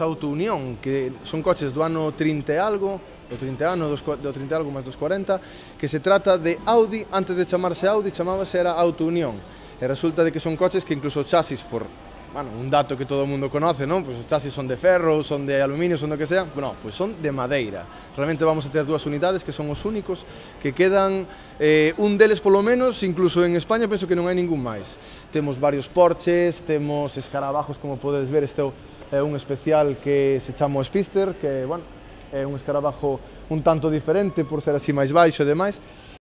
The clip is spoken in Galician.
Auto Unión, que son coches do ano 30 e algo, do 30 ano, do 30 e algo máis dos 40, que se trata de Audi, antes de chamarse Audi, chamábase era Auto Unión. E resulta de que son coches que incluso o chasis, por, bueno, un dato que todo o mundo conoce, non? Pois os chasis son de ferro, son de aluminio, son do que sea, no, pois son de madeira. Realmente vamos a ter dúas unidades que son os únicos que quedan, un deles polo menos, incluso en España penso que non hai ningún máis. Temos varios Porsches, temos escarabajos, como podedes ver, este é un especial que se chama o Spister, que, bueno, é un escarabajo un tanto diferente por ser así máis baixo e demais.